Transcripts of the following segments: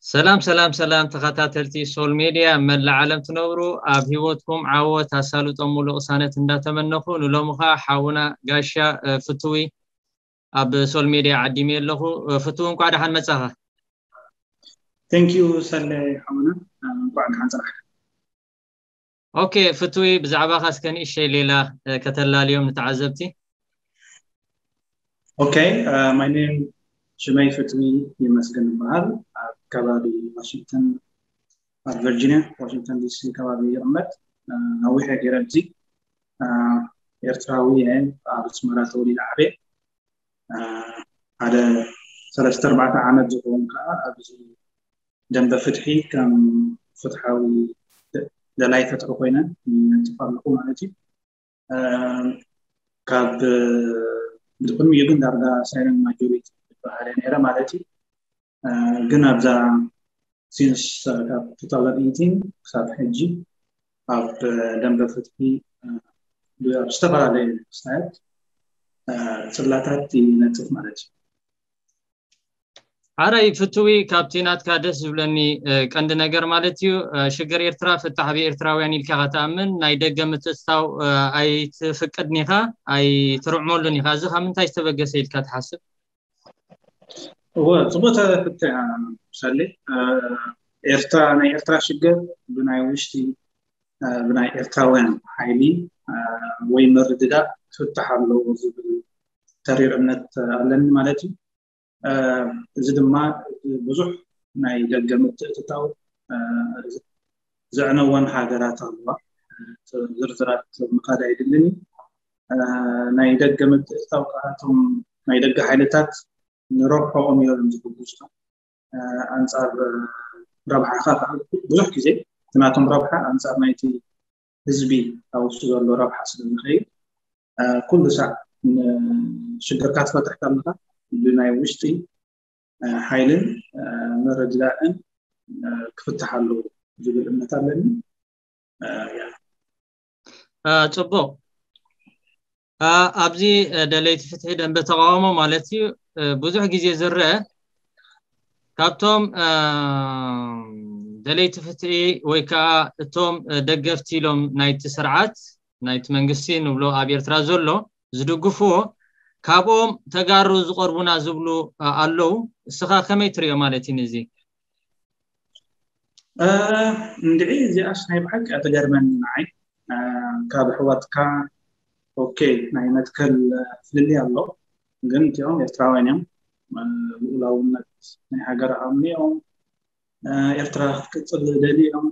ሰላም ሰላም ሰላም፣ ተኸታተልቲ ሶል ሜድያ መላእ ዓለም ትነብሩ፣ ኣብ ህይወትኩም ዓወት ኣሳልጦ ሙሉ ቅሳነት እንዳተመነኹ፣ ንሎሚ ኸዓ ሓውና ጋሻ እ፣ ፍትዊ ኣብ ሶል ሜድያ ዓዲመ ኣለኹ። እ፣ ፍትዊ፣ እንኳዕ ደሓን መጻኻ። Thank you ሰለ ሓውና፣ እንኳዕ ደሓን ጸናሕካ። ኦኬ ፍትዊ፣ ብዛዕባኻ እስከ ንእሽተይ ሌላ እ፣ ከተላልዮም ንተዓዘብቲ። Okay, uh, my name ሽመይ ፍትዊ ይመስገን ይበሃል። ኣብ ከባቢ ዋሽንግተን፣ ኣብ ቨርጂኒያ ዋሽንግተን ዲሲ ከባቢ ይቕመጥ። Uh, ነዊሕ ገይረ ኣብዚ። Uh, ኤርትራዊ እየ። ኣብ ኣስመራ ተወሊደ ዓብየ። Uh, ሓደ ሰለስተ ኣርባዕተ ዓመት ዝኸውን ከዓ ኣብዚ ደንበ ፍትሒ ከም ፍትሓዊ ደላይ ፍትሒ ኮይነ ይነጥፍ ኣለኹ ማለት እዩ። ካብ ብድቅድሚኡ ግን ዳርጋ ሳይለንት ማጆሪቲ ዝበሃል ነይረ ማለት እዩ። ግን ኣብዛ ሲንስ ካብ two thousand eighteen ክሳብ ሕጂ ኣብ ደንበ ፍትሒ ኣብ ዝተፈላለዩ ክስታያት ጽላታት ይነጥፍ ማለት እዩ። ሓራይ ፍትዊ፣ ካብቲ ናትካ ደስ ዝብለኒ ቀንዲ ነገር ማለት እዩ፣ ሽግር ኤርትራ ፍታሕ ብኤርትራውያን ኢልካ ከተኣምን ናይ ደገ ምትእትታው ኣይትፍቅድን ኢኻ፣ ኣይትርዕመሉን ኢኻ። እዚ ካብ ምንታይ ዝተበገሰ ኢልካ ትሓስብ? እወ፣ ጽቡቅ ተፍትሕ ሳሌ። ኤርትራ፣ ናይ ኤርትራ ሽግር ብናይ ውሽጢ ብናይ ኤርትራውያን ሓይሊ ወይ ምርድዳእ ክፍታሕ ኣለዎ ዝብል ተሪር እምነት ኣለኒ ማለት እዩ። እዚ ድማ ብዙሕ ናይ ደገ ምትእትታው ዘዕነወን ሃገራት ኣለዋ። ዝርዝራት ምኻድ ኣይድልን እዩ። ናይ ደገ ምትእትታው ከዓ እቶም ናይ ደገ ሓይልታት ንረብሖኦም እዮም ዝብግሱ። ኣንጻር ረብሓኻ ከዓ ብዙሕ ግዜ እቲ ናቶም ረብሓ ኣንጻር ናይቲ ህዝቢ ኣብ ውሽጢ ዘሎ ረብሓ ስለ ዝኸይድ ኩሉ ሳዕ ሽግርካ ትፈትሕ ከለካ ብናይ ውሽጢ ሓይልን ምርድዳእን ክፍትሕ ኣለዎ ዝብል እምነት ኣለኒ። ጽቡቅ። ኣብዚ ደለይቲ ፍትሒ ደንበ ተቃውሞ ማለት እዩ ብዙሕ ግዜ ዝረአ ካብቶም ደለይቲ ፍትሒ ወይ ከዓ እቶም ደገፍቲ ኢሎም ናይቲ ስርዓት ናይቲ መንግስቲ ንብሎ ኣብ ኤርትራ ዘሎ ዝድግፍዎ ካብኦም ተጋሩ ዝቀርቡና ዝብሉ ኣለዉ። እስኻ ከመይ ትሪኦ ማለት እዩ ነዚ? እንድዒ እዚኣስ ናይ ብሓቂ እያ ትገርመኒ ንዓይ። ካብ ኣሕዋትካ ኦኬ ናይ መትከል ፍልልይ ኣሎ፣ ግን እቲኦም ኤርትራውያን እዮም። ልኡላውነት ናይ ሃገር ኣምኒኦም ኤርትራ ክትቅጽል ዝደሊ እዮም።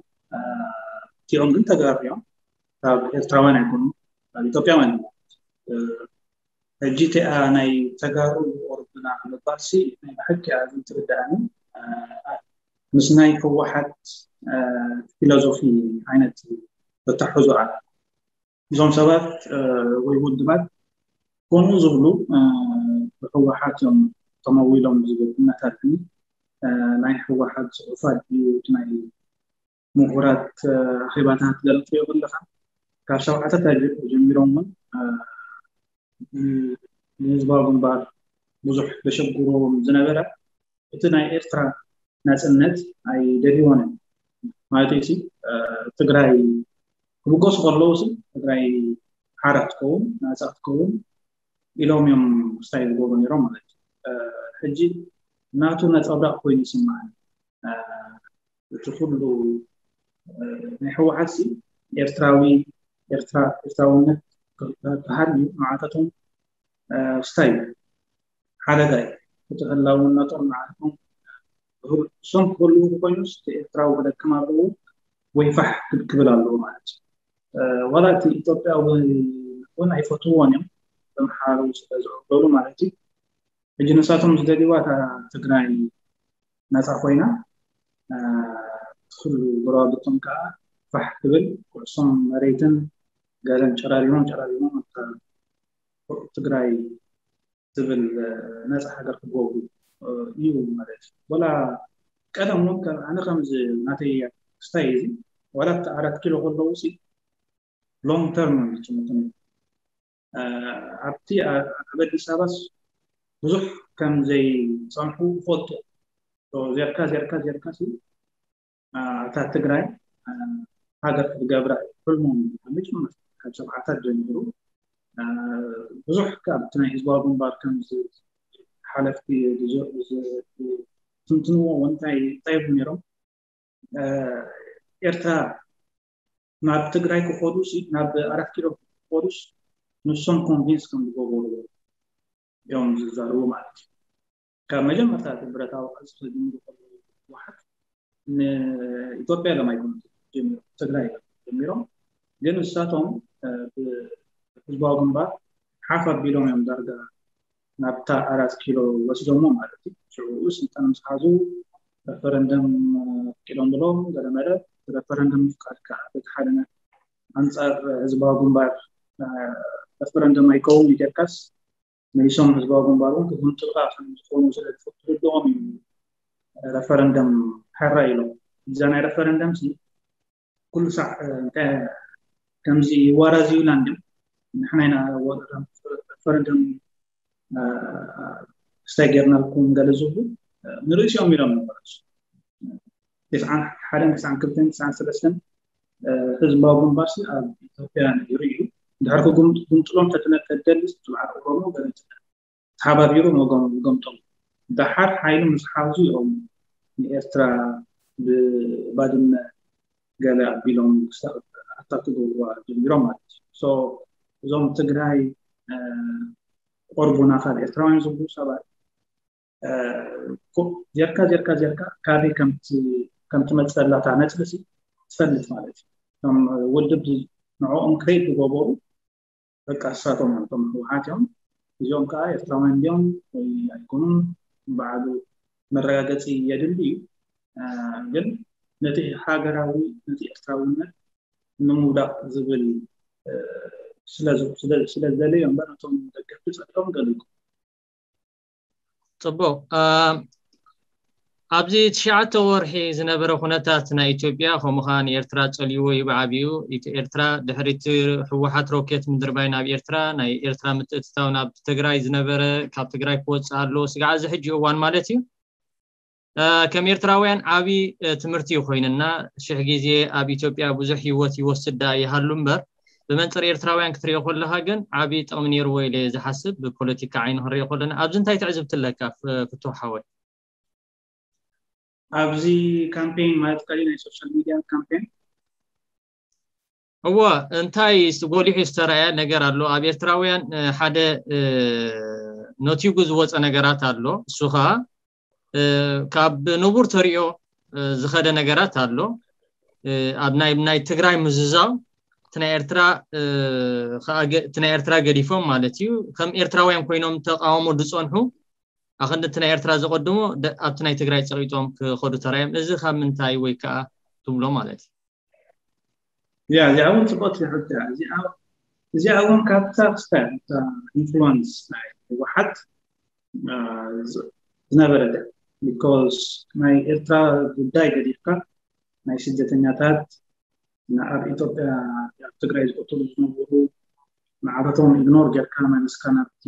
እቲኦም ግን ተጋሩ እዮም። ካብ ኤርትራውያን ኣይኮኑ፣ ካብ ኢትዮጵያውያን እዮም። ሕጂ እቲኣ ናይ ተጋሩ ዝቆርብና ምባልሲ ናይ ብሓቂ እያ ዝትርድኣኒ። ምስ ናይ ህወሓት ፊሎዞፊ ዓይነት ተታሕዞ ኣላ። እዞም ሰባት ወይ ውድባት ከምኡ ዝብሉ ብህወሓት እዮም ተመዊሎም ዝብል እምነት ኣለኒ። ናይ ህወሓት ፅሑፋት ድዩ እቲ ናይ ምሁራት ኣኼባታት ገለ ትሪኦ ከለካ ካብ ሸውዓተ ጀሚሮም እውን ንህዝባዊ ግንባር ብዙሕ ዘሸግርዎም ዝነበረ እቲ ናይ ኤርትራ ናፅነት ኣይደልይዎን እዮም። ማለት እዩ ትግራይ ክብገሱ ከለዉ ትግራይ ሓራ ክትከውን ናፃ ክትከውን ኢሎም እዮም ስታይ ዝገብሩ ነይሮም ማለት እዩ። ሕጂ ናቱ ነፀብራቅ ኮይኑ ይስማዓኒ። እቲ ኩሉ ናይ ህወሓት ሲ ኤርትራዊ ኤርትራውነት ክሃልዩ መዓታቶም ስታይ ሓደጋ እዩ። እቲ ህላውነቶም መዓታቶም እሶም ክህልዉ ኮይኑስ እቲ ኤርትራዊ ክደክም ኣለዎ ወይ ፋሕ ክብል ኣለዎ ማለት እዩ። ዋላ እቲ ኢትዮጵያዊ እውን ኣይፈትውዎን እዮም ተምሓሩ ስለ ዝዕበሉ ማለት እዩ። ሕጂ ንሳቶም ዝደልይዋ እታ ትግራይ ነፃ ኮይና ኩሉ ጎረባብቶም ከዓ ፋሕ ክብል ኩዕሶም መሬትን ገለን ጨራሪሞም ጨራሪሞም እታ ትግራይ ዝብል ነፃ ሃገር ክገብሩ እዩ ማለት እዩ። ወላ ቀደም እውን ከም ኣነ ከምዚ ናተይ ስታይ እዚ ዋላ እቲ ኣራት ኪሎ ከለዉ ሲ ሎንግ ተርም ዝጭምቱ ኣብቲ ኣብ ኣዲስ ኣበባስ ብዙሕ ከም ዘይፀንሑ ይፈልጡ። ዜርካ ዜርካ ዜርካ ሲ እታ ትግራይ ሃገር ክትገብራ ሕልሞም መጀመር ካብ ሰብዓታት ጀሚሩ ብዙሕ ካብቲ ናይ ህዝባዊ ግንባር ከም ሓለፍቲ ትንትንዎ እንታይ እንታይ ነሮም ኤርትራ ናብ ትግራይ ክኸዱ ናብ ኣራት ኪሎ ክኸዱስ ንሶም ኮንቪንስ ከም ዝገበሩ እዮም ዝዛረቡ ማለት እዩ። ካብ መጀመርታ እቲ ብረታዊ ቃልሲ ከጀምሩ ከለዉ ህወሓት ንኢትዮጵያ ኢሎም ኣይኮኑን ጀሚሮም፣ ትግራይ ኢሎም ጀሚሮም። ግን ንሳቶም ብህዝባዊ ግንባር ሓፍ ኣቢሎም እዮም ዳርጋ ናብታ ኣራት ኪሎ ወሲዶሞ ማለት እዩ። ሽዑ ስልጣን ምስ ሓዙ ረፈረንደም ኣፍቂዶም ብሎም ገለመለ። ረፈረንደም ምፍቃድ ከዓ በቲ ሓደ ኣንፃር ህዝባዊ ግንባር ረፈረንደም ኣይከውን ኢደርካስ መሊሶም ህዝባዊ ግንባር እውን ክግምጥልካ ከም ዝኾኑ ስለ ዝፍትልኦም እዩ ረፈረንደም ሕራ ኢሎም። እዛ ናይ ረፈረንደም ኩሉ ሳዕ ከምዚ ዋራዚዩላንድ ንሕና ኢና ረፈረንደም ስታይ ጌርናልኩም ገለ ዝብሉ ንርእሲኦም ኢሎም ነበረ። ተስዓን ሓደን ተስዓን ክልተን ተስዓን ሰለስተን ህዝባዊ ግንባር ኣብ ኢትዮጵያ ነይሩ እዩ። ድሕሪ ክጉምጥሎም ተትነተደልስ ብዓል ኦሮሞ ገለ ተሓባቢሩ መጎምቶም። ደሓር ሓይሉ ምስ ሓዙ እዮም ንኤርትራ ብባድመ ገለ ኣቢሎም ኣታክ ክገብሩዋ ጀሚሮም ማለት እዩ። እዞም ትግራይ ቆርቡና ካብ ኤርትራውያን ዝብሉ ሰባት ጀርካ ጀርካ ጀርካ ካበይ ከምትመፅእ ዘላታ ነፅሊ ትፈልጥ ማለት እዩ። እቶም ውድብ ንዕኦም ክሬት ዝገበሩ በቃ እሳቶም እዮም፣ እቶም ህወሓት እዮም። እዚኦም ከዓ ኤርትራውያን እንዲኦም ወይ ኣይኮኑን በዓሉ መረጋገፂ የድሊ እዩ። ግን ነቲ ሃገራዊ ነቲ ኤርትራውነት ንምውዳቕ ዝብል ስለዝደለዩ እዮም እምበር እቶም ደገፍቲ ፀሊኦም ገሊኩም ፅቡቅ ኣብዚ ትሽዓተ ወርሒ ዝነበረ ኩነታት ናይ ኢትዮጵያ ከምኡ ከዓ ንኤርትራ ፀልይዎ እዩ ብዓብዩ። ኤርትራ ድሕሪቲ ህወሓት ሮኬት ምድርባይ ናብ ኤርትራ ናይ ኤርትራ ምትእትታው ናብ ትግራይ ዝነበረ ካብ ትግራይ ክወፅእ ኣለዎ ስጋዕ እዚ ሕጂ እዋን ማለት እዩ። ከም ኤርትራውያን ዓብዪ ትምህርቲ እዩ ኮይንና። ሽሕ ግዜ ኣብ ኢትዮጵያ ብዙሕ ህይወት ይወስድ ደኣ ይሃሉ እምበር ብመንፅር ኤርትራውያን ክትሪኦ ከለካ ግን ዓብዪ ጥቕሚ ነይርዎ ኢለ ዝሓስብ ብፖለቲካ ዓይኒ ክንሪኦ ከለና። ኣብዚ እንታይ ትዕዝብቲ ኣለካ ፍቱሕ ሓወይ? ኣብዚ ካምፔን ማለት ቀሊ ናይ ሶሻል ሚድያ ካምፔን እወ እንታይ ጎሊሑ ዝተረኣየ ነገር ኣሎ? ኣብ ኤርትራውያን ሓደ ነቲጉ ዝወፀ ነገራት ኣሎ። እሱ ከዓ ካብ ንቡር ተሪኦ ዝኸደ ነገራት ኣሎ። ኣብ ናይ ናይ ትግራይ ምዝዛው ናይ ኤርትራ ናይ ኤርትራ ገዲፎም ማለት እዩ። ከም ኤርትራውያን ኮይኖም ተቃውሞ ዝፀንሑ ኣክንዲ ናይ ኤርትራ ዘቀድሞ ኣብቲ ናይ ትግራይ ፀቂጦም ክኸዱ ተራዮም። እዚ ካብ ምንታይ ወይ ከዓ ትብሎ ማለት እዩ? ያ እዚኣ እውን ፅቡቅ ሕቶ እዚኣ እውን ካብታ ክስታይ ኢንፍሉንስ ናይ ህወሓት ዝነበረ ቢኮዝ ናይ ኤርትራ ጉዳይ ገዲፍካ ናይ ስደተኛታት ኣብ ኢትዮጵያ ኣብ ትግራይ ዝቀተሉ ዝነበሩ ንዓበቶም ኢግኖር ጌርካ መለስካ ናብቲ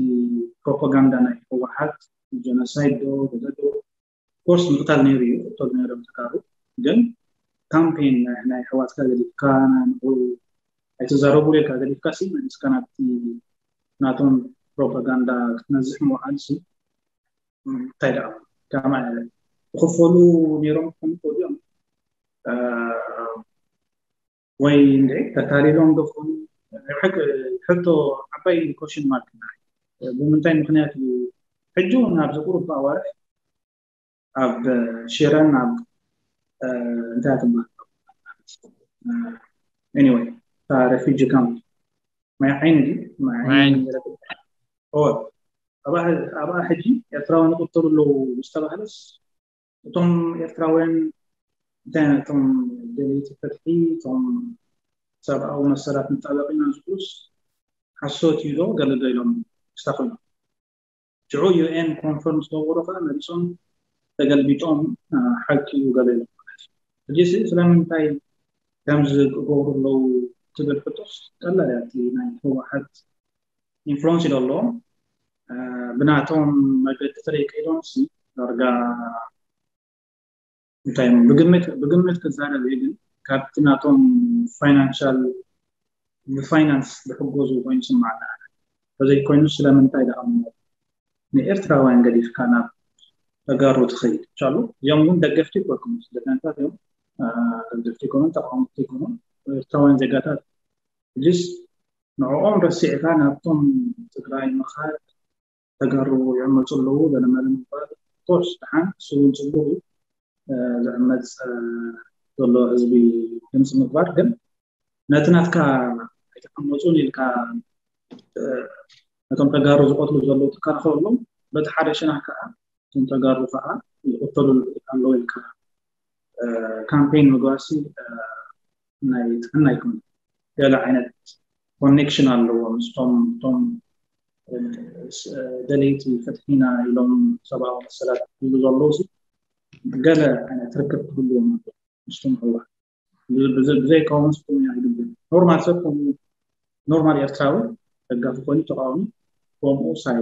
ፕሮፓጋንዳ ናይ ህወሓት ጀኖሳይድ ዶ ገለ ዶ ኮርስ ምቕታል ነይሩ እዩ። ቅተሉ ነይሮም ተጋሩ ግን ካምፔን ናይ ኣሕዋትካ ገዲፍካ ንኡ ኣይትዛረቡ ኢልካ ገዲፍካ ሲ መሊስካ ናብቲ ናቶም ፕሮፓጋንዳ ክትነዝሕ ምውዓል ሲ እንታይ ደኣ ከማይ ክኽፈሉ ነይሮም ክኾኑ ይኽእሉ እዮም ወይ እንደ ተታሊሎም ዶ ክኾኑ ሕቶ ዓባይ ኮሽን ማርክ ብምንታይ ምክንያት እዩ ሕጂ እውን ኣብዚ ቁሩብ ኣዋርሕ ኣብ ሽረን ኣብ እንታይ ትበሃል anyway እታ refugee camp ማይ ዓይኒ ድዩ ማይ ዓይኒ ኣብኣ ሕጂ ኤርትራውያን ይቅተሉ ኣለዉ ዝተባህለስ እቶም ኤርትራውያን እንታይ እቶም ደለይቲ ፍትሒ እቶም ሰብኣዊ መሰላት ንጣበቅ ኢና ዝብሉስ ሓሶት እዩ ዶ ገለ ዶ ኢሎም ስታፍ ሽዑ ዩ ኤን ኮንፈርም ዝገበሩ ከዓ መሊሶም ተገልቢጦም ሓቂ እዩ ገለ ኢሎም ማለት እዩ። ሕጂ ስለምንታይ ከምዚ ክገብሩ ኣለዉ ትብል ሕቶስ ቀላል እያ። እቲ ናይ ህወሓት ኢንፍሉንስ ኢሉ ኣለዎም ብናቶም መገዲ ተለይ ከይዶም ዳርጋ እንታይ ብግምት ብግምት ክዛረብ እየ፣ ግን ካብቲ ናቶም ፋይናንሻል ብፋይናንስ ዝሕገዙ ኮይኑ ስማዕና ተዘይኮይኑ ስለምንታይ ደኣ ንኤርትራውያን ገዲፍካ ናብ ተጋሩ ትኸይድ ቻሉ። እዚኦም እውን ደገፍቲ ይኮኑ ስደተኛታት እዮም። ደገፍቲ ይኮኑ ተቃወምቲ ይኮኑ ኤርትራውያን ዜጋታት ጅስ ንዕኦም ረሲዕካ ናብቶም ትግራይ ምኻድ ተጋሩ ይዕመፁ ኣለዉ። ገለመለ ምባል ኮርስ ደሓን ስውን ፅቡቅ እዩ። ዝዕመፅ ዘሎ ህዝቢ ድምፂ ምግባር ግን ነቲ ናትካ ኣይተቀመፁን ኢልካ ነቶም ተጋሩ ዝቀትሉ ዘለዉ ትከላኸለሎም፣ በቲ ሓደ ሸነኽ ከዓ እቶም ተጋሩ ከዓ ይቀተሉ ኣለዉ ኢልካ ካምፔን ምግባርሲ ናይ ጥዕና ኣይኮነ። ገለ ዓይነት ኮኔክሽን ኣለዎ ምስቶም ቶም ደለይቲ ፍትሒና ኢሎም ሰብኣዊ መሰላት ይብሉ ዘለዉ ገለ ዓይነት ርክብ ክህልዎም ኣለዎ ምስቶም ህዋ ብዘይካውን ስኩም ኣይግብን። ኖርማል ሰብ ኖርማል ኤርትራዊ ደጋፊ ኮይኑ ተቃዋሚ ከምኡ ሳይ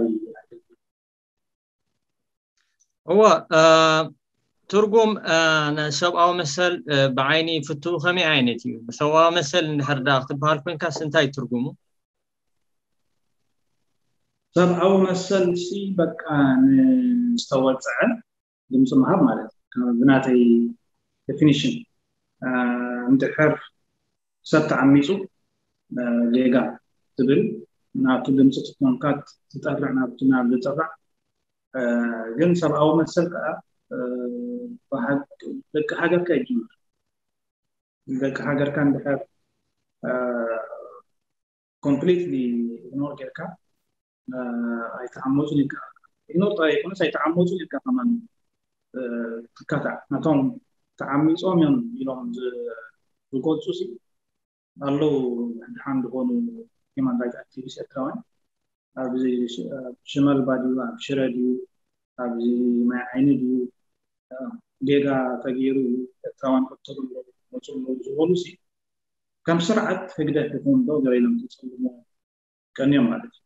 እወ ትርጉም ሰብኣዊ መሰል ብዓይኒ ፍትው ከመይ ዓይነት እዩ? ሰብኣዊ መሰል እንድሕር ዳ ክትበሃል ኮንካስ እንታይ ትርጉሙ? ሰብኣዊ መሰል ሲ በቃ ንዝተወፀዐ ድምፂ ምሃብ ማለት እዩ። ብናተይ ዴፊኒሽን እንድሕር ሰብ ተዓሚፁ ጌጋ ትብል ናብቲ ድምፂ ትኮንካ ትጠርዕ ናብቲ ናብ ዝጥራዕ ግን ሰብኣዊ መሰል ከዓ ደቂ ሃገርካ ይጅምር። ደቂ ሃገርካ እንድሕር ኮምፕሊትሊ ኢግኖር ጌርካ ኣይተዓመፁን ኢልካ ኢግኖር ጥራይ ይኮነስ ኣይተዓመፁን ኢልካ ከማን ትካታዕ ነቶም ተዓሚፆም እዮም ኢሎም ዝገልፁ ሲ ኣለዉ ድሓን ዝኾኑ ሂማን ራይት ኣክቲቪስት ኤርትራውያን ኣብዚ ሽመል ባድዩ ኣብ ሽረ ድዩ ኣብዚ ማይ ዓይኒ ድዩ ጌጋ ተገይሩ እዩ ኤርትራውያን ቀተሉ ኣለዉ መፁ ኣለዉ ዝበሉ ሲ ከም ስርዓት ህግደፍ ይኹን ዶ ገለ ኢሎም ተፀልሞ ቀንዮም ማለት እዩ።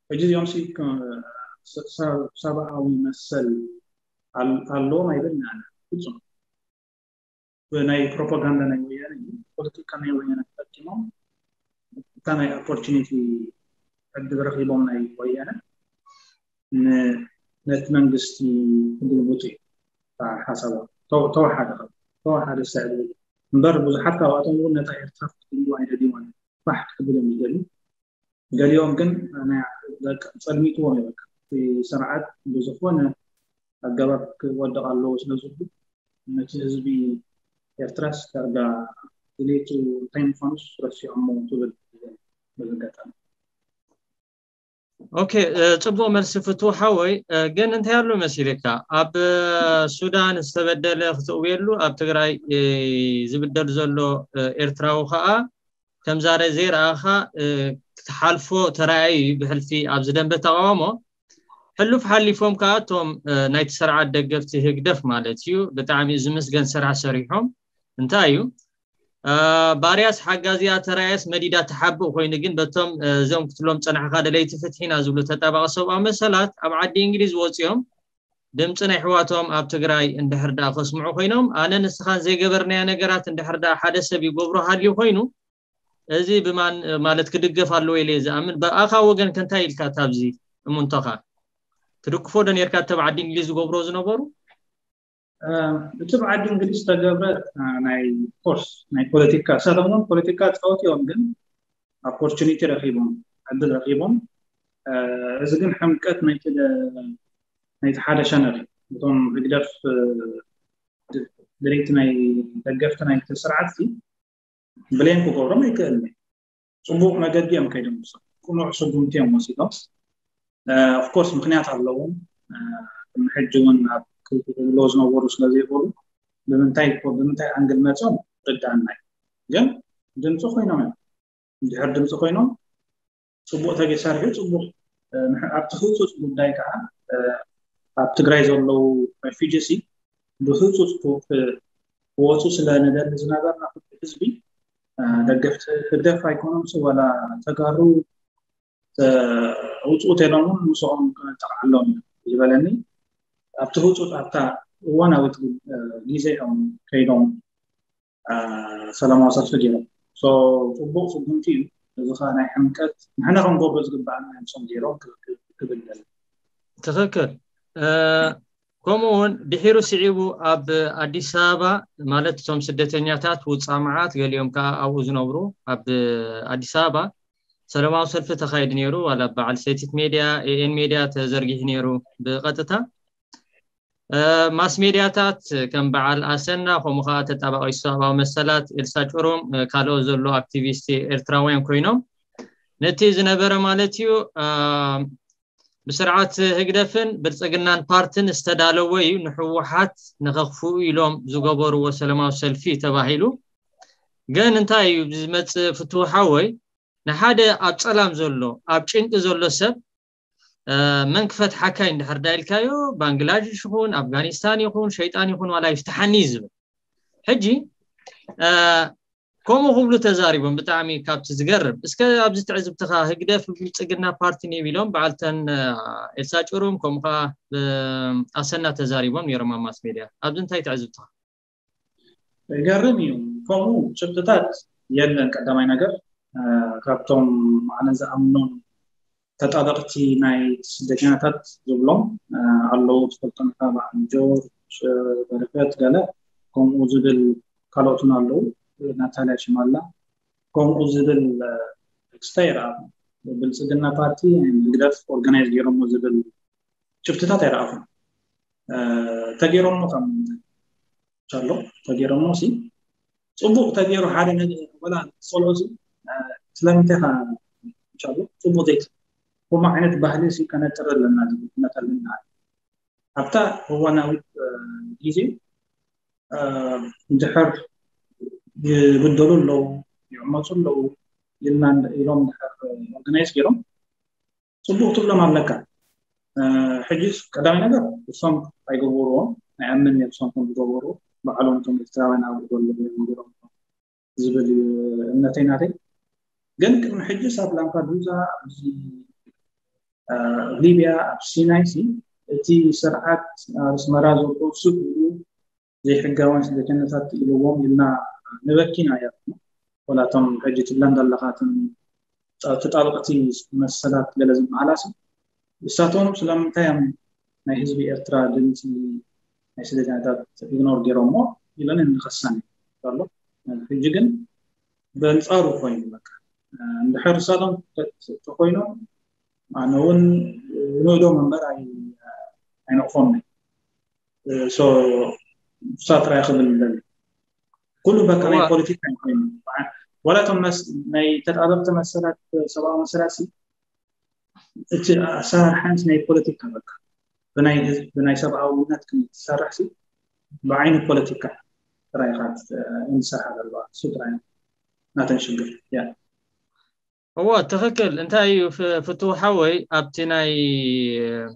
ሕጂ እዚኦም ሲ ሰብኣዊ መሰል ኣለዎም ኣይበልና ፍፁም ብናይ ፕሮፓጋንዳ ናይ ወያነ ፖለቲካ ናይ ወያነ ተጠቂሞም እታ ናይ ኦፖርቹኒቲ ዕድል ረኪቦም ናይ ወያነ ነቲ መንግስቲ ክግልብጡ እዩ ሓሳቦም ተወሓደ ተወሓደ ስዕል እምበር ብዙሓት ካብኣቶም እውን ነታ ኤርትራ ክትግልቡ ኣይደልዩዋን ባሕ ክትብል እዮም ይደልዩ ገሊኦም ግን ጸልሚትዎም እዩ በቃ እቲ ስርዓት ብዝኾነ ኣገባብ ክወድቕ ኣለዎ ስለ ዝብሉ ነቲ ህዝቢ ኤርትራስ ዳርጋ ድሌቱ እንታይ ምዃኑስ ረሲዖሞ ትብል በዚ ኣጋጣሚ ኦኬ ጽቡቅ መልሲ ፍትው ሓወይ ግን እንታይ ኣሎ መሲልካ ኣብ ሱዳን ዝተበደለ ክትእውየሉ ኣብ ትግራይ ዝብደል ዘሎ ኤርትራዊ ከዓ ከም ዛሬ ዘይረኣኻ ክትሓልፎ ተራእዩ ብሕልፊ ኣብዚ ደንበ ተቃውሞ ሕሉፍ ሓሊፎም ከዓ እቶም ናይቲ ስርዓት ደገፍቲ ህግደፍ ማለት እዩ ብጣዕሚ ዝምስገን ስራሕ ሰሪሖም እንታይ እዩ ባርያስ ሓጋዚያ ተራየስ መዲዳ ተሓብእ ኮይኑ ግን በቶም እዞም ክትሎም ፀናሕካ ደለይቲ ፍትሒና ዝብሉ ተጣባቂ ሰብኣዊ መሰላት ኣብ ዓዲ እንግሊዝ ወፂኦም ድምፂ ናይ ኣሕዋቶም ኣብ ትግራይ እንድሕር ደኣ ከስምዑ ኮይኖም ኣነ ንስኻን ዘይገበርናዮ ነገራት እንድሕር ደኣ ሓደ ሰብ ይገብሮ ሃልዩ ኮይኑ እዚ ብማን ማለት ክድገፍ ኣለዎ ኢለ ዝኣምን ብኣኻ ወገን ከንታይ ኢልካ ታብዚ እሙንቶኻ ትድግፎ ዶ ነርካ ተብ ዓዲ እንግሊዝ ዝገብሮ ዝነበሩ እቲ ብዓዲ እንግሊዝ ዝተገብረ ናይ ኮርስ ናይ ፖለቲካ እሳቶም እውን ፖለቲካ ፃወት እዮም ግን ኦፖርቹኒቲ ረኪቦም ዕድል ረኪቦም እዚ ግን ሕምቀት ናይቲ ሓደ ሸነር እቶም ህግደፍ ድሌቲ ናይ ደገፍቲ ናይቲ ስርዓት ብሌም ክገብሮም ኣይክእልን እዩ ፅቡቅ መገዲ እዮም ከይዶም ቅኑዕ ስጉምቲ እዮም ወሲዶም ኦፍኮርስ ምክንያት ኣለዎም ሕጂ እውን ኣብ ክብሎ ዝነበሩ ስለዘይበሉ ብምንታይ ብምንታይ ኣንግል መፅኦም ርዳእና እዩ ግን ድምፂ ኮይኖም እዮም እንድሕር ድምፂ ኮይኖም ፅቡቅ ተገሳሪሑ ፅቡቅ ኣብቲ ህፁፅ ጉዳይ ከዓ ኣብ ትግራይ ዘለዉ ሬፊጅሲ ብህፁፅ ክወፁ ስለ ንደሊ ዝነበርና ህዝቢ ደገፍቲ ህግደፍ ኣይኮኖምሲ ዋላ ተጋሩ ውፅኡ ተይሎም እውን ምስኦም ክነጠቃዓሎም እዩ ዝበለኒ ኣብቲ ህፁፅ ኣብታ እዋናዊት ግዜ እዮም ከይዶም ሰላማዊ ሰልፊ ገይሮም። ጽቡቕ ስጉምቲ እዩ። እዚ ከዓ ናይ ሕምቀት ንሕና ክንገብሮ ዝግባኣና እዮም ሶም ገይሮም ክብል። ትኽክል። ከምኡ እውን ድሒሩ ስዒቡ ኣብ ኣዲስ ኣበባ ማለት እቶም ስደተኛታት ውፃእ መዓት ገሊኦም ከዓ ኣብኡ ዝነብሩ ኣብ ኣዲስ ኣበባ ሰላማዊ ሰልፊ ተኻይዱ ነይሩ። ዋላ በዓል ሰቲት ሜድያ ኤኤን ሜድያ ተዘርጊሑ ነይሩ ብቐጥታ ማስ ሜድያታት ከም በዓል ኣሰና ከምኡ ከዓ ተጣባቂ ሰብኣዊ መሰላት ኤልሳ ጭሩም ካልኦት ዘሎ ኣክቲቪስት ኤርትራውያን ኮይኖም ነቲ ዝነበረ ማለት እዩ ብስርዓት ህግደፍን ብልፅግናን ፓርትን ዝተዳለወ እዩ ንሕወሓት ንኸኽፍኡ ኢሎም ዝገበርዎ ሰላማዊ ሰልፊ ተባሂሉ። ግን እንታይ እዩ ዝመፅእ ፍትው ሓወይ ንሓደ ኣብ ፀላም ዘሎ ኣብ ጭንቂ ዘሎ ሰብ መን ክፈትሓካ እንድሕር ዳኢልካዮ ባንግላዴሽ ይኹን ኣፍጋኒስታን ይኹን ሸይጣን ይኹን ዋላ ይፍትሓኒ እዩ ዝብል። ሕጂ ከምኡ ክብሉ ተዛሪቦም ብጣዕሚ ካብቲ ዝገርም። እስከ ኣብዚ ትዕዝብትኻ ህግደፍ ብልፅግና ፓርቲ ኔብ ኢሎም በዓልተን ኤልሳ ጭሩም ከምኡ ከዓ ኣሰና ተዛሪቦም ነይሮም ኣብ ማስ ሜድያ። ኣብዚ እንታይ ትዕዝብትኻ? ገርም እዩ። ከምኡ ጭብጥታት የለን። ቀዳማይ ነገር ካብቶም ኣነ ዝኣምኖም ተጣበቕቲ ናይ ስደተኛታት ዝብሎም ኣለዉ። ትፈልጦም ኢኻ በዓል ጆርጅ በረከት ገለ ከምኡ ዝብል ካልኦትን ኣለዉ። ናታልያ ሽማላ ከምኡ ዝብል ክስታይ ይረኣ። ብልፅግና ፓርቲ ህግደፍ ኦርጋናይዝ ገይሮሞ ዝብል ጭብጥታት ኣይረኣኹን። ተገይሮሞ ከም ኣሎ ተገይሮሞ ሲ ፅቡቅ ተገይሩ ሓደ ነገር ወላ ዝፀልኦ ሲ ስለምንታይ ካ እንሻሎ ፅቡቅ ዘይት ከምኡ ዓይነት ባህሊ ሲ ከነጥር ኣለና ዝብል ኩነት ኣለና። ኣብታ እዋናዊት ግዜ እንድሕር ይብደሉ ኣለዉ ይዕመፁ ኣለዉ ኢልና ኢሎም እንድሕር ኦርጋናይዝ ገይሮም ፅቡቅ ትብሎም ኣለካ። ሕጂስ ቀዳማይ ነገር እሶም ኣይገበርዎም ኣይኣምን እየ እሶም ከም ዝገበሩ ባዕሎም እቶም ኤርትራውያን ኣብ ዘለዉ ገይሮም ዝብል እዩ እምነተይ ናተይ። ግን ቅድሚ ሕጂ ሳብ ላምፓዱዛ ኣብዚ ሊብያ ኣብ ሲናይ ሲ እቲ ስርዓት ኣብ ኣስመራ ዘሎ ስብ ዘይሕጋውያን ስደተኛታት ኢልዎም ኢልና ንበኪና እያ። ወላቶም ሕጂ ትብለን ዘለኻትን ተጣበቕቲ መሰላት ገለ ዝበሃላ ሲ እሳቶም ስለምንታይ እዮም ናይ ህዝቢ ኤርትራ ድምፂ ናይ ስደተኛታት ኢግኖር ገይሮሞ ኢለን እንኸሳን ዘሎ። ሕጂ ግን በንፃሩ ኮይኑ በቃ እንድሕር እሳቶም ተኮይኖም ኣነ እውን ንእዶም እምበር ኣይነቕፎም። እሳ ጥራይ ክብል ደሊ ኩሉ በቃ ናይ ፖለቲካ ኮይኑ ወላቶም ናይ ተጣበቅቲ መሰላት ሰብኣዊ መሰላት እቲ ኣሰራርሓንስ ናይ ፖለቲካ በቃ ብናይ ህዝብ ብናይ ሰብኣውነት ክም ትሰርሕ ሲ ብዓይኒ ፖለቲካ ጥራይ ኢኻ እንሰርሓ ዘለዋ እሱ ጥራይ ናተን ሽግር ያ እዎ ትኽክል። እንታይ እዩ ፍትው ሓወይ ኣብቲ ናይ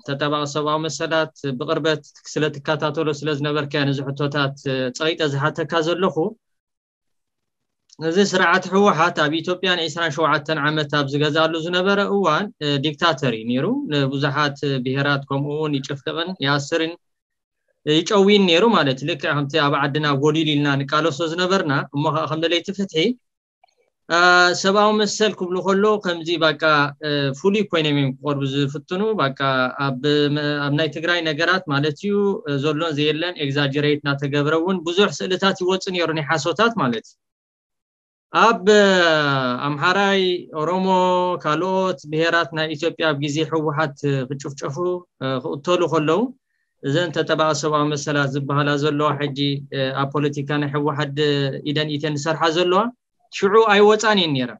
ተጣባቂ ሰብኣዊ መሰላት ብቅርበት ስለ ትከታተሎ ስለ ዝነበርካ ነዚ ሕቶታት ፀቂጠ ዝሓተካ ዘለኹ። እዚ ስርዓት ህወሓት ኣብ ኢትዮጵያ ን ዒስራን ሸውዓተን ዓመት ኣብ ዝገዛሉ ዝነበረ እዋን ዲክታተር እዩ ነይሩ። ንብዙሓት ብሄራት ከምኡ እውን ይጭፍልቕን ይኣስርን ይጨውይን ነይሩ ማለት ልክዕ ከምቲ ኣብ ዓድና ጎዲል ኢልና ንቃለሶ ዝነበርና እሞ ከዓ ከም ደለይቲ ፍትሒ ሰብኣዊ መሰል ክብሉ ከሎ ከምዚ በቃ ፍሉይ ኮይኖም እዮም ክቀርቡ ዝፍትኑ በቃ ኣብ ናይ ትግራይ ነገራት ማለት እዩ ዘሎን ዘየለን ኤግዛጀሬት እናተገብረ እውን ብዙሕ ስእልታት ይወፁ ነይሩ ናይ ሓሶታት ማለት እዩ ኣብ ኣምሓራይ ኦሮሞ ካልኦት ብሄራት ናይ ኢትዮጵያ ኣብ ግዜ ህወሓት ክጭፍጨፉ ክቅተሉ ከለዉ እዘን ተጠባቂ ሰብኣዊ መሰላት ዝበሃላ ዘለዋ ሕጂ ኣብ ፖለቲካ ናይ ህወሓት ኢደን ኢተን ዝሰርሓ ዘለዋ ሽዑ ኣይወፃን እየን ነይረን።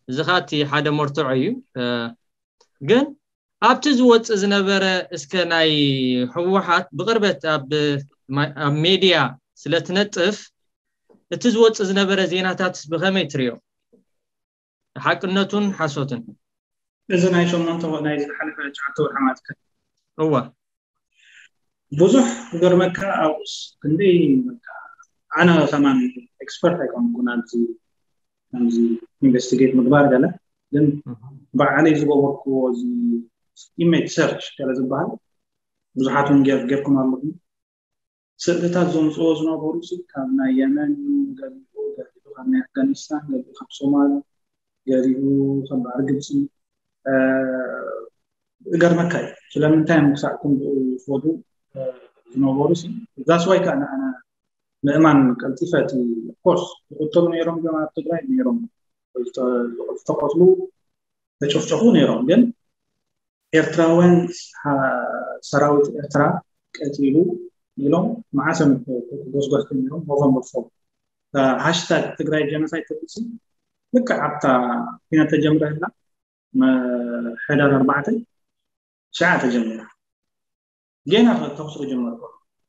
እዚ ከዓ እቲ ሓደ መርትዖ እዩ። ግን ኣብቲ ዝወፅእ ዝነበረ እስከ ናይ ህወሓት ብቅርበት ኣብ ሜድያ ስለትነጥፍ እቲ ዝወፅእ ዝነበረ ዜናታት ብከመይ ትሪኦ? ሓቅነቱን ሓሶትን እዚ ናይ ሸሞንተ ናይ ዝሓለፈ ትሽዓተ ወርሒ ማለት ከ እዋ ብዙሕ ክገርመካ ኣብኡስ ክንደይ ኣነ ከማን ኤክስፐርት ኣይኮንኩን ኣብዚ ከምዚ ኢንቨስቲጌት ምግባር ገለ ግን ባዕለይ ዝገበርክዎ እዚ ኢሜጅ ሰርች ገለ ዝበሃል ብዙሓት እውን ጌርኩም ኣለኹም ስእልታት ዘምፅዎ ዝነበሩ ሲ ካብ ናይ የመን እዩ፣ ገሊኡ ገሊኡ ካብ ናይ ኣፍጋኒስታን፣ ገሊኡ ካብ ሶማል፣ ገሊኡ ካብ ባሕሪ ግብፂ። እገርመካ እዩ ስለምንታይ እዮም ክሳዕ ክንድኡ ዝኸዱ ዝነበሩ ሲ። ዛስዋይ ከዓ ንኣና ምእማን ቀልጢፈ እቲ ኮርስ ዝቕተሉ ነይሮም እዮም ኣብ ትግራይ ነይሮም ዝተቐትሉ ተጨፍጨፉ ነይሮም። ግን ኤርትራውያን ሰራዊት ኤርትራ ቀቲሉ ኢሎም መዓሰም ጎስጓስ ጀሚሮም። ሞቶም ወድፎም ሃሽታግ ትግራይ ጀኖሳይድ ተብልሲ ልክዕ ኣብታ ኩናት ተጀምረ ህላ ሕዳር ኣርባዕተ ሸዓ ተጀሚራ። ጌና ተኩስ ክጀመር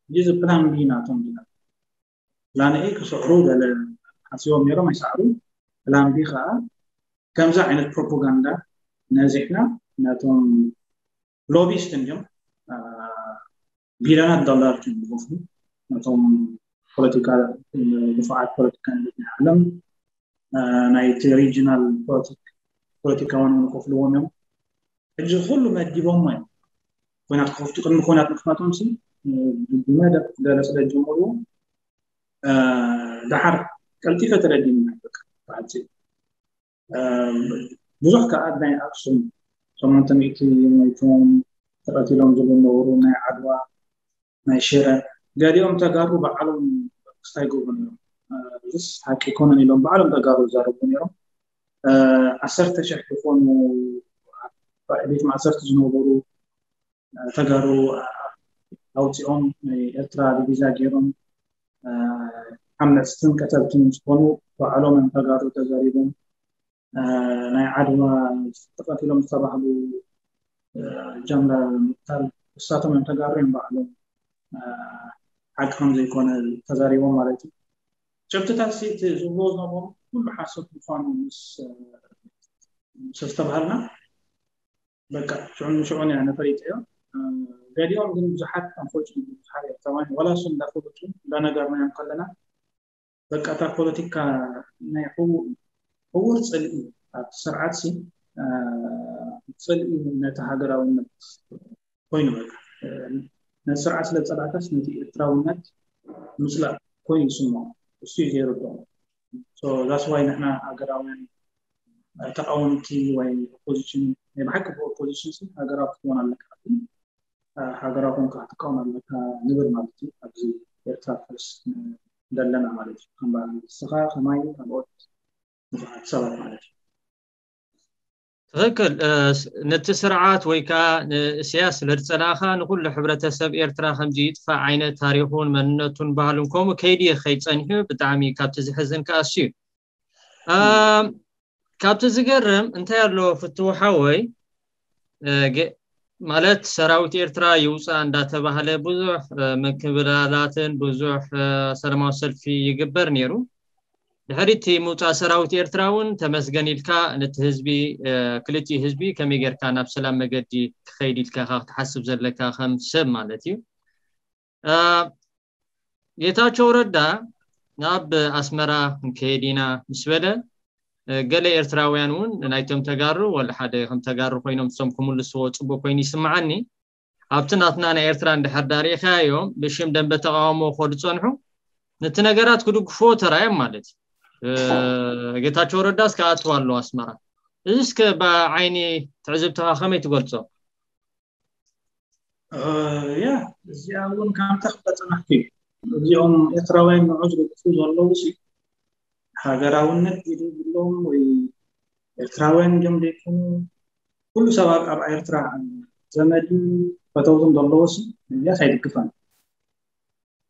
እዚ ፕላን ቢ ናቶም ና ፕላን ኤ ክስዕሩ ገለ ሓሲቦም ነይሮም ኣይሰዕሩ። ፕላን ቢ ከዓ ከምዚ ዓይነት ፕሮፓጋንዳ ነዚሕና ነቶም ሎቢስት እንዲም ቢልዮናት ዶላር እዮም ዝኸፍሉ ነቶም ፖለቲካ ድፋዓት ፖለቲካ ናይ ዓለም ናይቲ ሪጂናል ፖለቲካውን ንከፍልዎም እዮም። ሕጂ ኩሉ መዲቦም እዮም። ኩናት ክኸፍቱ ቅድሚ ኩናት ምክፋቶም ሲ ብመደብ ገለ ስለ ጀመሩ ደሓር ቀልጢፈ ተረዲኒ በቃ ብሓፂ ብዙሕ ከዓ ናይ ኣክሱም ሸሞንተ ሚእቲ ሞይቶም ተቐቲሎም ዝብሉ ነበሩ። ናይ ዓድዋ ናይ ሽረ ገሊኦም ተጋሩ ባዕሎም ክስታይ ገብሩ ነይሮም። እዚስ ሓቂ ኣይኮነን ኢሎም ባዕሎም ተጋሩ ይዛረቡ ነይሮም። ዓሰርተ ሽሕ ዝኾኑ ቤት ማእሰርቲ ዝነበሩ ተጋሩ ኣውፂኦም ናይ ኤርትራ ዲቪዛ ገይሮም ዓመፅትን ቀተልትን ዝኾኑ ባዕሎም እዮም ተጋሩ ተዛሪቦም። ናይ ዓድዋ ተቐቲሎም ዝተባህሉ ጀምላ ምቅታል እሳቶም እዮም ተጋሩ እዮም ባዕሎም ሓቂ ከም ዘይኮነ ተዛሪቦም ማለት እዩ። ጭብጥታት ሲ እቲ ዝብሎ ዝነበሩ ኩሉ ሓሶት ምኳኑ ምስ ምስ ኣስተባሃልና በቃ ሽዑ ንሽዑ እያ ነፈሪጠዮ። ገሊኦም ግን ብዙሓት ኣንፎርቹኔትሊ ብዙሓት ኤርትራውያን ዋላ እሱ እንዳፈለጡ እንዳነገርናዮም ከለና በቃ እታ ፖለቲካ ናይ ዕው- ዕውር ፅልኢ ኣብቲ ስርዓት ሲ ፅልኢ ነቲ ሃገራውነት ኮይኑ በቃ ነቲ ስርዓት ስለ ዝፀላእካስ ነቲ ኤርትራውነት ምፅላእ ኮይኑ ይስምዖ። እሱ እዩ ዘይርድኦም። ዛስ ዋይ ንሕና ሃገራውያን ተቃወምቲ ወይ ኦፖዚሽን ናይ ብሓቂ ብኦፖዚሽን ሲ ሃገራዊ ክትኮን ኣለካ ግን ሃገራዊ ኮንካ ክትቃወም ኣለካ ንብል ማለት እዩ። ኣብዚ ኤርትራ ፈርስ ዘለና ማለት እዩ። ከም በዓል ንስኻ ከማይ ካልኦት ብዙሓት ሰባት ማለት እዩ። ትኽክል። ነቲ ስርዓት ወይ ከዓ ንእስያስ ስለ ዝፀላእኻ ንኩሉ ሕብረተሰብ ኤርትራ ከምዚ ይጥፋእ ዓይነት ታሪኹን መንነቱን ባህሉን ከምኡ ከይዲ ከይፀንሑ ብጣዕሚ ካብቲ ዝሕዝን ከዓ እሱ እዩ። ካብቲ ዝገርም እንታይ ኣሎ ፍትው ሓወይ ማለት ሰራዊት ኤርትራ ይውፃእ እንዳተባህለ ብዙሕ ምክብላላትን ብዙሕ ሰላማዊ ሰልፊ ይግበር ነይሩ። ድሕሪ እቲ ምውፃእ ሰራዊት ኤርትራ እውን ተመስገን ኢልካ ነቲ ህዝቢ ክልቲኡ ህዝቢ ከመይ ጌርካ ናብ ሰላም መገዲ ክኸይድ ኢልካ ክትሓስብ ዘለካ ከም ሰብ ማለት እዩ። ጌታቸው ረዳ ናብ ኣስመራ ክንከይድ ኢና ምስ በለ ገለ ኤርትራውያን እውን ናይቶም ተጋሩ ወላ ሓደ ከም ተጋሩ ኮይኖም እሶም ክምልስዎ ፅቡቅ ኮይኑ ይስምዓኒ። ኣብቲ ናትና ናይ ኤርትራ እንድሕር ዳሪእካዮም ብሽም ደንበ ተቃውሞ ከዱ ፀንሑ ነቲ ነገራት ክድግፍዎ ተራዮም ማለት እዩ። ጌታቸው ረዳስ ክኣትው ኣለዎ ኣስመራ። እዚ እስከ ብዓይኒ ትዕዝብትኻ ከመይ ትገልፆ? ያ እዚኣ እውን ከምታ ክብላ ፀናሕኩ እዩ። እዚኦም ኤርትራውያን ንዑ ዝደግፉ ዘለዉ ሲ ሃገራውነት ዝብሎም ወይ ኤርትራውያን እዮም ዘይኮኑ ኩሉ ሰባት ኣብ ኤርትራ ዘመድን ፈተውትን ዘለዉ ሲ እዚኣስ ኣይድግፋን።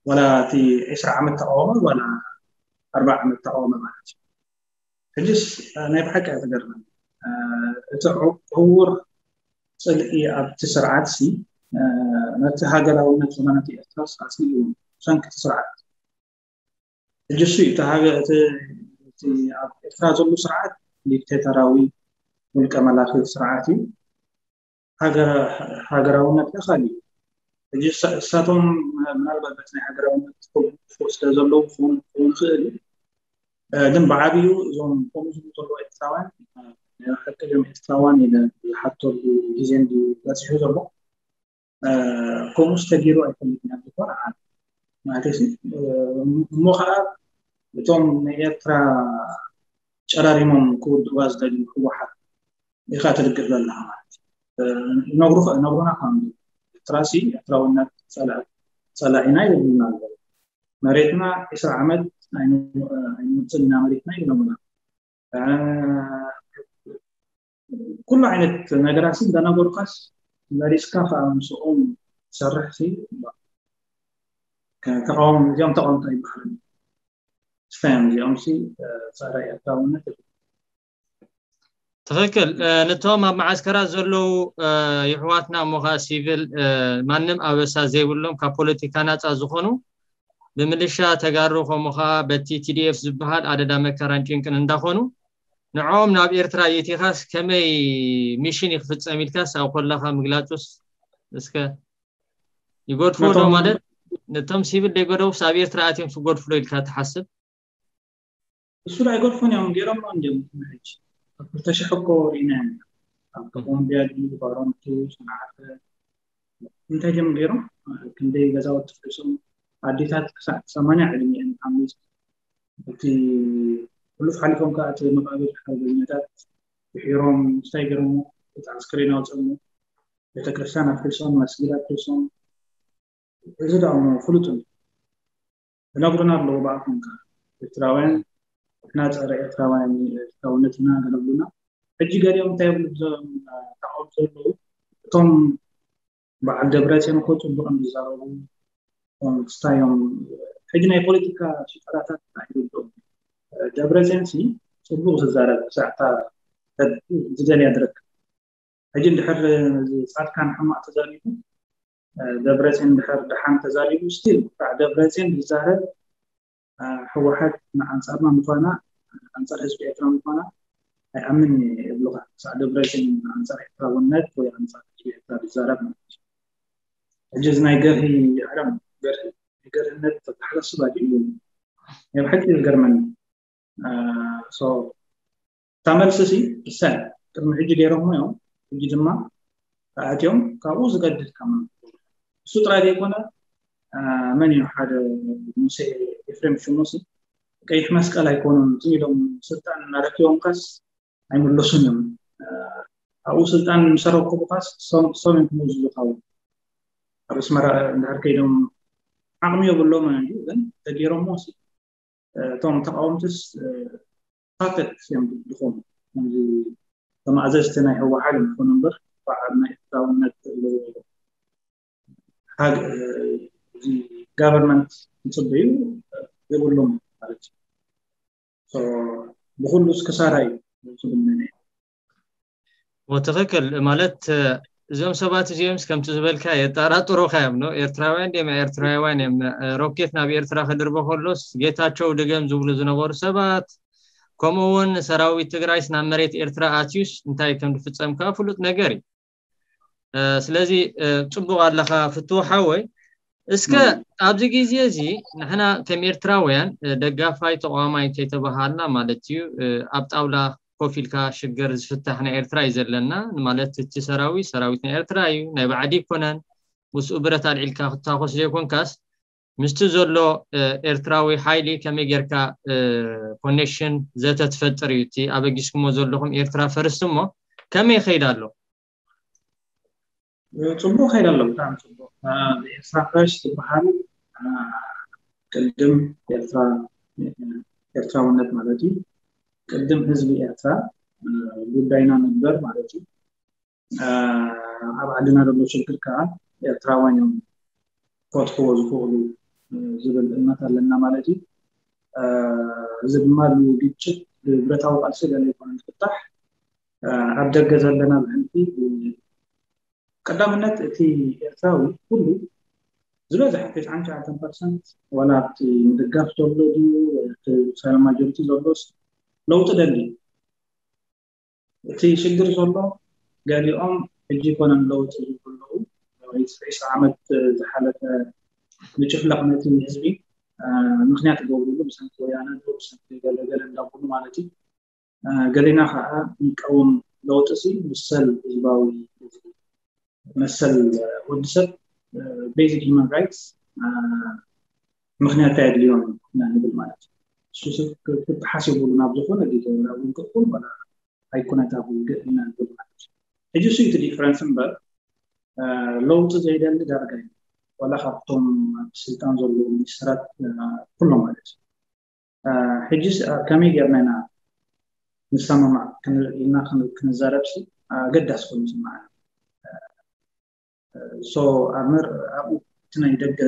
ዋላ እቲ ዕስራ ዓመት ተቃወመ ዋላ ኣርባ ዓመት ተቃወመ ማለት እዩ። ሕጅስ ናይ ብሓቂ እያ ትገርመኒ። እቲ ዕውር ፅልኢ ኣብቲ ስርዓት ሲ ነቲ ሃገራውነት ዝኾነ ነቲ ኤርትራ ኣፅሊኡ ብሰንኪ እቲ ስርዓት። ሕጂ እሱ እዩ እቲ ሃገ- እቲ እቲ ኣብ ኤርትራ ዘሎ ስርዓት ዲክቴተራዊ ውልቀ መላኺ ስርዓት እዩ። ሃገራ- ሃገራውነት ከ ካሊእ እዩ። ሕጂ እሳ- እሳቶም ምናልባት በቲ ናይ ሃገራውነት ክድግፉ ስለ ዘለዉ ክኸውን ክኸውን ይኽእል እዩ። ግን ብዓብዩ እዞም ከምኡ ዝብሉ ዘለዉ ኤርትራውያን ናይ ሓቂ ድዮም ኤርትራውያን ኢለ ዝሓተሉ ግዜ እንድዩ በፂሑ ዘሎ። ከምኡስ ተገይሩ ኣይፈልጥን እያ ዝኾነ ዓዲ ማለት እዩ። እሞ ከዓ እቶም ናይ ኤርትራ ጨራሪሞም ክውድዋ ዝደልዩ ህወሓት ኢኻ ትልግር ዘለኻ ማለት እዩ። ይነግሩና ከም ኤርትራሲ ኤርትራውነት ፀላኢና ይብሉና ኣለዉ። መሬትና ዕስራ ዓመት ኣይንወፅን ኢና መሬትና ይብለሙና። ኩሉ ዓይነት ነገራት እንዳነገሩካስ መሪስካ ከዓ ምስኦም ትሰርሕ ተቃወም እዚኦም ተቃወምታ ይበሃል። ስታዮም እዚኦም ሲ ፀረ ኤርትራውነት። ትኽክል። ነቶም ኣብ መዓስከራት ዘለዉ ይሕዋትና እሞ ከዓ ሲቪል ማንም ኣበሳ ዘይብሎም ካብ ፖለቲካ ናፃ ዝኾኑ ብምልሻ ተጋሩ ከምኡ ከዓ በቲ ቲዲኤፍ ዝበሃል ኣደዳ መከራን ጭንቅን እንዳኾኑ ንዕኦም ናብ ኤርትራ የእቲኻስ ከመይ ሚሽን ይክፍፀም ኢልካስ ኣብ ኮላካ ምግላፁስ እስከ ይጎድፎ ዶ ማለት ነቶም ሲቪል ደይገደውስ ኣብ ኤርትራ ኣትዮም ክጎድፉ ዶ ኢልካ ትሓስብ? እሱ ኣይጎድፎን እዮም ገይሮም እንዲም ሕጂ ኣብ ክልተ ሽሕ እኮ ርኢና ኢና ኣብ ኮሎምቢያ ድዩ ባሮንቱ ሰንዓፈ እንታይ ድዮም ገይሮም ክንደይ ገዛውቲ ፍሪሶም ኣዴታት ክሳዕ ሰማንያ ዕድሚአን ሓሚስ እቲ ሕሉፍ ሓሊፎም ከዓ እቲ መቃብር ሓርበኛታት ድሒሮም እንታይ ገይሮም እቲ ኣስክሬን ኣውፅኦሞ ቤተክርስትያን ኣፍሪሶም መስጊድ ኣፍሪሶም እዚ ደኣ ፍሉጥ እዩ ዝነግሩና ኣለዉ ብኣፎም ከዓ ኤርትራውያን ንሕና ፀረ ኤርትራውያን ኤርትራውነት ኢና ገለብሉና ሕጂ ገሊኦም እንታይ ይብሉ እዞም ተቃወምቲ ዘለዉ እቶም በዓል ደብረፅዮን እኮ ፅቡቅ እዮም ዝዛረቡ ክስታዮም ሕጂ ናይ ፖለቲካ ሽጠራታት ኣይርድኦም ደብረፅዮን ሲ ፅቡቅ ዝዛረብ ክሳዕታ ዝደልያ ድረክ ሕጂ እንድሕር ፃድቃን ሕማቅ ተዛሪቡ ደብረፅዮን እንድሕር ደሓን ተዛሪቡ ስቲል ከዓ ደብረፅዮን ዝዛረብ ህወሓት ንኣንፃርና ምኳና ኣንፃር ህዝቢ ኤርትራ ምኳና ኣይኣምን እየ ይብሉካ ክሳዕ ደብረፅዮን ኣንፃር ኤርትራውነት ወይ ኣንፃር ህዝቢ ኤርትራ ዝዛረብ ማለት እዩ ሕጂ እዚ ናይ ገርሂ ዓለም ገርሂ ገርህነት ተተሓሳስብ ኣድልዩ ናይ ብሓቂ ዝገርመኒ እታ መልሲ ሲ እሰን ቅድሚ ሕጂ ገይሮሞ እዮም ሕጂ ድማ ኣትዮም ካብኡ ዝገድድ ከማ እሱ ጥራይ ዘይኮነ መን እዩ ሓደ ሙሴ ኤፍሬም ሽሙሲ ቀይሕ መስቀል ኣይኮኑን ዝም ኢሎም ስልጣን እናረኪቦም ካስ ኣይምለሱን እዮም ኣብኡ ስልጣን ምሰረከቡ ካስ ሰም እዮም ክመዙ ዝካቡ ኣብ ኣስመራ እንድሕር ከይዶም ዓቕሚ የብሎም እዩ ግን ተገይሮሞ እቶም ተቃወምትስ ፓተት እዮም ዝኾኑ ከምዚ ተማእዘዝቲ ናይ ህወሓት ይኾኑ እምበር በዓል ናይ ኤርትራውነት ጋቨርንመንት ዝፅበዩ የብሎም ማለት እዩ ብኩሉስ ክሳራ እዩ ዝብል ትኽክል ማለት እዞም ሰባት እዚኦምስ ከምቲ ዝበልካ የጠራጥሩካ እዮም ነው ኤርትራውያን ድም ኤርትራውያን እዮም ሮኬት ናብ ኤርትራ ክድርበ ከሎስ ጌታቸው ድገም ዝብሉ ዝነበሩ ሰባት ከምኡ እውን ሰራዊት ትግራይስ ናብ መሬት ኤርትራ ኣትዩስ እንታይ ከም ዝፍፀም ከዓ ፍሉጥ ነገር እዩ ስለዚ ፅቡቅ ኣለካ ፍትው ሓወይ እስከ ኣብዚ ግዜ እዚ ንሕና ከም ኤርትራውያን ደጋፋይ ተቋማይ እንተይተባሃልና ማለት እዩ ኣብ ጣውላ ኮፍ ኢልካ ሽግር ዝፍታሕ ናይ ኤርትራ እዩ ዘለና ማለት እቲ ሰራዊት ሰራዊት ናይ ኤርትራ እዩ ናይ ባዕዲ ይኮነን ምስኡ ብረት ኣልዒልካ ክታኮስ ዘይኮንካስ ምስቲ ዘሎ ኤርትራዊ ሓይሊ ከመይ ጌርካ ኮኔክሽን ዘተ ትፈጥር እዩ እቲ ኣበጊስኩሞ ዘለኹም ኤርትራ ፈርስት እሞ ከመይ ይኸይድ ኣሎ ፅቡቅ ከይድ ኣሎ ብጣዕሚ ፅቡቅ ኤርትራ ፈርስት ዝበሃል ቅድም ኤርትራ ኤርትራውነት ማለት እዩ ቅድም ህዝቢ ኤርትራ ጉዳይና ንግበር ማለት እዩ ኣብ ዓድና ዘሎ ሽግር ከዓ ኤርትራውያን እዮም ክፈትሕዎ ዝኽእሉ ዝብል እምነት ኣለና ማለት እዩ እዚ ድማ ግጭት ብብረታዊ ቃልሲ ገለ ይኮነ ዝፍታሕ ኣብ ደገ ዘለና ብሕልፊ ቀዳምነት እቲ ኤርትራዊ ኩሉ ዝበዝሐ ተስዓን ሸውዓተን ፐርሰንት ዋላ ኣብቲ ምድጋፍ ዘሎ ድዩ ሳይለንት ማጆሪቲ ዘሎስ ለውጢ ደሊ እቲ ሽግር ዘሎ ገሊኦም ሕጂ ይኮነን ለውጢ ዝብሉ ኣለዉ ዒስራ ዓመት ዝሓለፈ ምጭፍላቕ ነቲ ህዝቢ ምክንያት ይገብርሉ ብሰንኪ ወያነ ብሰንኪ ገለገለ እንዳብሉ ማለት እዩ ገሌና ከዓ ንቀውም ለውጢ ሲ መሰል ህዝባዊ መሰል ወዲ ሰብ basic human rights ምኽንያት ኣየድልዮን ኢና ንብል ማለት እዩ። እሱ ሰብ ክተሓሲቡሉ ናብ ዝኾነ ዲተወላ እውን ክእኩል ወላ ኣይኮነታ ውግእ ኢና ንብል ማለት እዩ። ሕጂ እሱ እቲ ዲፍረንስ እምበር ለውጢ ዘይደሊ ዳርጋ እዩ። ዋላ ካብቶም ኣብ ስልጣን ዘለዉ ሚኒስትራት ኩሎም ማለት እዩ። ሕጂ ከመይ ጌርና ኢና ንሰማማዕ ኢልና ክንዛረብ ሲ ኣገዳሲ ኮይኑ ይስምዓኒ። ሶ ኣብኡ እቲ ናይ ደገ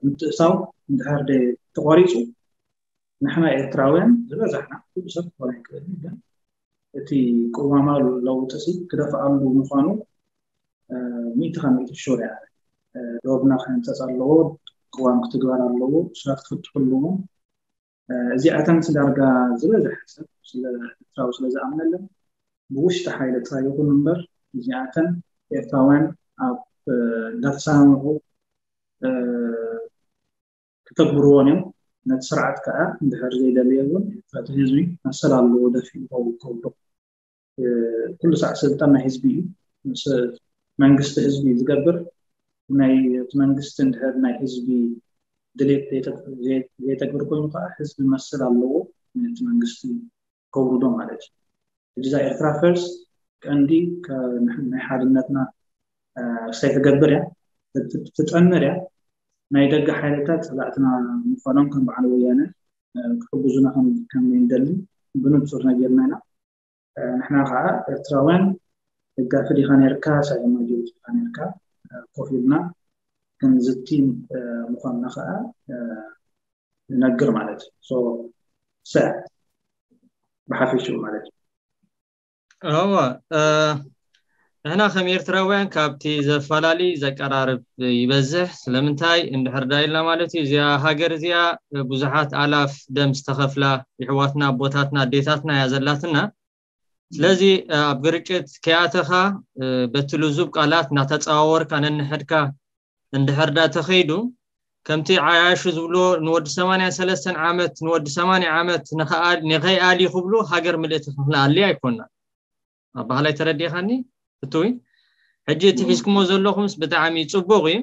ምትእሳው እንድሕር ተቋሪፁ ንሕና ኤርትራውያን ዝበዛሕና ኩሉ ሰብ ክኾን ኣይክእልን ግን እቲ ቅዋማዊ ለውጢ ሲ ክደፍኣሉ ምዃኑ ሚእቲ ካብ ሚእቲ ሹር እያ። ዶብና ክህንፀፅ ኣለዎ፣ ቅዋም ክትግበር ኣለዎ፣ እሱራት ክፍትሑ ኣለዎም። እዚኣተን ዳርጋ ዝበዝሐ ሰብ ስለ ኤርትራዊ ስለ ዝኣምነለን ብውሽጢ ሓይሊ ጥራይ ይኹን እምበር እዚኣተን ኤርትራውያን ኣብ እንዳተሰማምዑ ክተግብርዎን እዮም። ነቲ ስርዓት ከዓ እንድሕር ዘይደለየ እውን እቲ ህዝቢ መሰል ኣለዎ ደፊኡ ከውርዶ። ኩሉ ሳዕ ስልጣን ናይ ህዝቢ እዩ። መንግስቲ ህዝቢ እዩ ዝገብር። ናይ እቲ መንግስቲ እንድሕር ናይ ህዝቢ ድሌት ዘይተግብር ኮይኑ ከዓ ህዝቢ መሰል ኣለዎ ነቲ መንግስቲ ከውርዶ ማለት እዩ። ሕጂ እዛ ኤርትራ ፈርስት ቀንዲ ናይ ሓድነትና ክሳይ ትገብር እያ ትጠምር እያ። ናይ ደገ ሓይልታት ፀላእትና ምዃኖም ከም በዓል ወያነ ክሕግዙና ከም እንደሊ ብንፁር ነጊርና ኢና። ንሕና ከዓ ኤርትራውያን ደጋፊ ዲኻ ነርካ ሳይድ ማጆሪቲ ዲኻ ነርካ ኮፍ ኢልና ክንዝቲ ምዃንና ከዓ ንነግር ማለት እዩ። ሰ ብሓፈሽኡ ማለት እዩ። እወ ንሕና ከም ኤርትራውያን ካብቲ ዘፈላለዩ ዘቀራርብ ይበዝሕ። ስለምንታይ እንድሕር ዳ ኢልና ማለት እዩ እዚኣ ሃገር እዚኣ ብዙሓት ኣላፍ ደም ዝተኸፍላ ይሕዋትና ኣቦታትና ኣዴታትና እያ ዘላትና። ስለዚ ኣብ ግርጭት ከይኣተኻ በቲ ልዙብ ቃላት እናተፀዋወርካ ነንሕድካ እንድሕር ዳ ተኸይዱ ከምቲ ዓያሹ ዝብሎ ንወዲ ሰማንያን ሰለስተን ዓመት ንወዲ ሰማንያ ዓመት ንኸይኣሊ ክብሉ ሃገር ምልእቲ ክንኣሊ ኣይኮና። ኣባህላይ ተረዲኻኒ? እትዊ ሕጂ እቲ ሒዝኩሞ ዘለኹምስ ብጣዕሚ ፅቡቕ እዩ።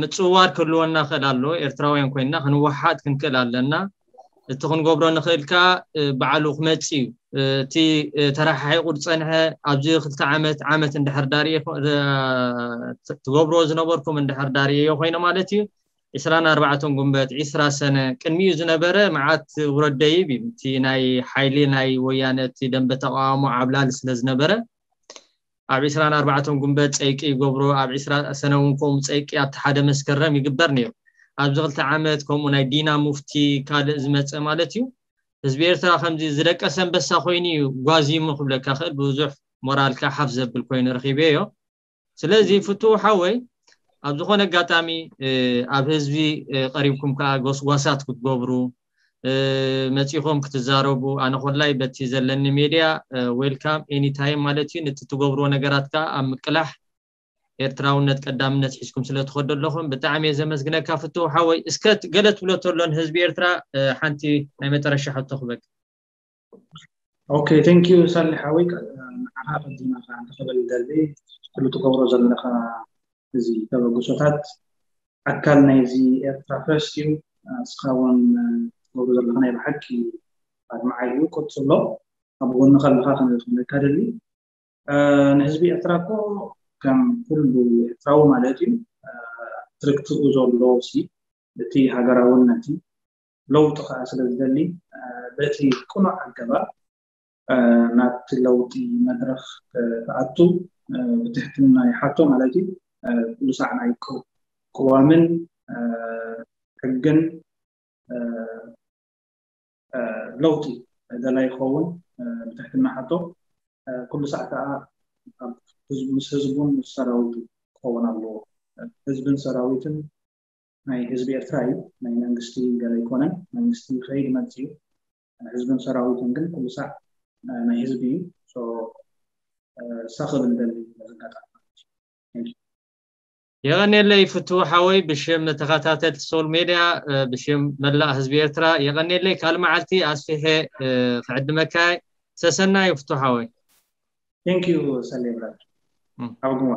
ምፅዋር ክህልወና ክእል ኣሎ። ኤርትራውያን ኮይንና ክንወሓጥ ክንክእል ኣለና። እቲ ክንገብሮ ንኽእል ከዓ ባዕሉ ክመፅ እዩ። እቲ ተረሓሒቑ ዝፀንሐ ኣብዚ ክልተ ዓመት ዓመት እንድሕር ዳርየ ትገብርዎ ዝነበርኩም እንድሕር ዳርየዮ ኮይነ ማለት እዩ። ዕስራን ኣርባዕተን ጉንበት ዕስራ ሰነ ቅድሚኡ ዝነበረ መዓት ውረድ ደይብ እዩ። እቲ ናይ ሓይሊ ናይ ወያነ እቲ ደንበ ተቃውሞ ዓብላሊ ስለ ዝነበረ ኣብ ዕስራን ኣርባዕተን ጉንበት ፀይቂ ይገብሮ ኣብ ዕስራ ሰነ እውን ከምኡ ፀይቂ ኣብቲ ሓደ መስከረም ይግበር ነይሩ። ኣብዚ ክልተ ዓመት ከምኡ ናይ ዲና ሙፍቲ ካልእ ዝመፀ ማለት እዩ። ህዝቢ ኤርትራ ከምዚ ዝደቀሰ ኣንበሳ ኮይኑ እዩ ጓዚሙ ክብለካ ክእል ብዙሕ ሞራልካ ሓፍ ዘብል ኮይኑ ረኺበዮ። ስለዚ ፍትው ሓወይ ኣብ ዝኾነ ኣጋጣሚ ኣብ ህዝቢ ቀሪብኩም ከዓ ጎስጓሳት ክትገብሩ መፂኹም ክትዛረቡ ኣነ ኮላይ በቲ ዘለኒ ሜድያ ዌልካም ኤኒታይም ማለት እዩ። ነቲ ትገብርዎ ነገራት ከዓ ኣብ ምቅላሕ ኤርትራውነት ቀዳምነት ሒዝኩም ስለ ትኸዱ ኣለኹም ብጣዕሚ እየ ዘመስግነካ ፍትው ሓወይ። እስከ ገለ ትብሎ ተሎ ንህዝቢ ኤርትራ ሓንቲ ናይ መጨረሻ ሕቶ ክበክ ኦኬ ቴንክ ዩ ሳሊ ሓወይ። ንዓኻ ቀዲማ ከዓ እንተኸበል ደሊ ኩሉ ትገብሮ ዘለኻ እዚ ተበግሶታት ኣካል ናይዚ ኤርትራ ፈርስት እዩ። እስኻ እውን ትገብሮ ዘለኻ ናይ ብሓቂ ኣድማዓይ እዩ። ቀፅሎ ኣብ ጎኒ ከለኻ ከመይ ክብለካ ደሊ ንህዝቢ ኤርትራ እኮ ከም ኩሉ ኤርትራዊ ማለት እዩ ትርክትኡ ዘሎ ሲ እቲ ሃገራውነት ለውጢ ከዓ ስለ ዝደሊ በቲ ቅኑዕ ኣገባብ ናብቲ ለውጢ መድረኽ ክኣቱ ብትሕትና ይሓቶ ማለት እዩ። ኩሉ ሳዕ ናይ ቅዋምን ሕግን ለውጢ ደላይ ይኸውን ብትሕትና ሓቶ ኩሉ ሳዕ ከዓ ምስ ህዝቡን ምስ ሰራዊቱ ክኸውን ኣለዎ። ህዝብን ሰራዊትን ናይ ህዝቢ ኤርትራ እዩ። ናይ መንግስቲ ገለ ኣይኮነን። መንግስቲ ይኸይድ ይመጽእ እዩ። ህዝብን ሰራዊትን ግን ኩሉ ሳዕ ናይ ህዝቢ እዩ። እሳ ክብል ደሊ መዘጋጣሚ የቐኔለይ ፍትው ሓወይ ብሽም ተኸታተልቲ ሶል ሜድያ ብሽም መላእ ህዝቢ ኤርትራ የቐኔለይ። ካል መዓልቲ ኣስፊሐ ክዕድመካ ሰሰናዩ ፍትው ሓወይ። ቴንክ ዩ ሰሌ ብራድ ኣብ ግሞ